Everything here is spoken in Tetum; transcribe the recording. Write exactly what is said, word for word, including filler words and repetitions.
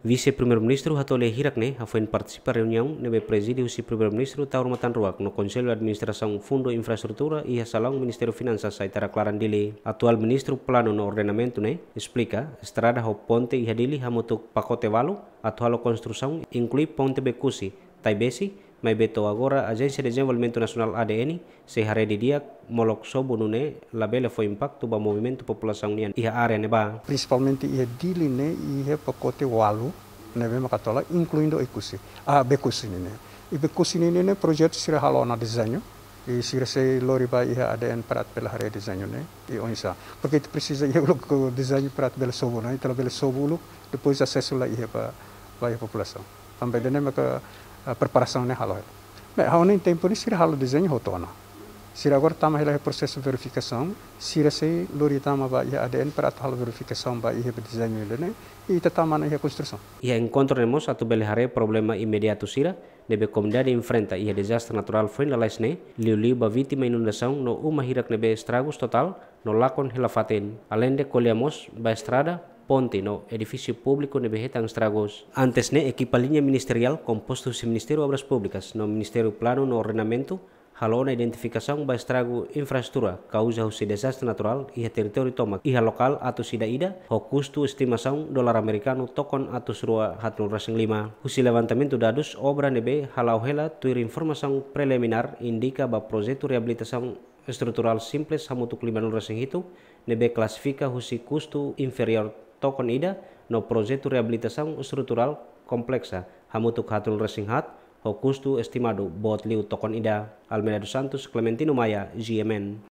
Vise-Primeiru-Ministru Hato Lia Hirak ne'e hafoin partisipa reuniaun ne'ebé prezide husi Primeiru-Ministru Taur Matan Ruak no Konsellu Administrasaun Fundu Infraestrutura iha salaun Ministériu Finansas Aitarak Laran, Dili. Atuál Ministru Planu no Ordenamentu ne'e esplika, estrada ho ponte iha Dili hamutuk pakote ualu atu halo konstrusaun, inklui ponte Bekusi, Taibesi, maibé to'o agora Ajénsia Dezenvolvimentu Nasionál, A D N, sei haree didi'ak molok sobu nune'e labele fó impaktu ba movimentu populasaun nian iha área ne'ebá. Prinsipalmente iha Dili ne'e iha pakote ualu ne'ebé mak atu halo, inkluindo Oekusi, ah, Bekusi nian ne'e. I Bekusi nian ne'e projetu sira halo ona dezeñu, i sira sei lori ba iha A D N para atu bele haree dezeñu ne'e i oinsá. Porke ita presiza iha uluk dezeñu para atu bele sobu ona, ita labele sobu uluk, depois asesu la iha ba, ba iha populasaun. Tanba ida-ne'e maka, ah, preparasaun ne'e halo. Bem, ha'u hanoin tempu ne'e sira halo dezeñu hotu ona. Sira agora tama hela iha prosesu verifikasaun, sira sei lori tama ba iha A D N para atu halo verifikasaun ba iha dezeñu ida-ne'e, i ita tama ona iha konstrusaun. Iha enkontru ne'e mós atu bele haree problema imediatu sira ne'ebé komunidade enfrenta iha dezastre naturál foin lalais ne'e, liuliu ba vítima inundasaun no uma hirak ne'ebé estragus totál no lakon hela fatin. Aleinde ko'alia mós ba estrada, ponte no edifísiu públiku ne'ebé hetan estragus. Antes ne'e, ekipa liña ministeriál kompostu husi Ministériu Obras Públikas no Ministériu Planu no Ordenamentu halo ona identifikasaun ba estragu infraestrutura kauza husi dezastre naturál iha territóriu tomak iha lokál atus ida-ida, ho kustu estimasaun dolar amerikanu tokon atus rua haatnulu resin lima. Husi levantamentu dadus, obra ne'ebé hala'o hela tuir informasaun preliminár indika ba projetu reabilitasaun estruturál simples hamutuk limanulu resin hitu, ne'ebé klasifika husi kustu inferiór tokon ida, no projetu reabilitasaun estruturál kompleksa hamutuk haatnulu resin haat, ho kustu estimadu boot liu tokon ida. Almeida dos Santos, Clementino Maia, G M N.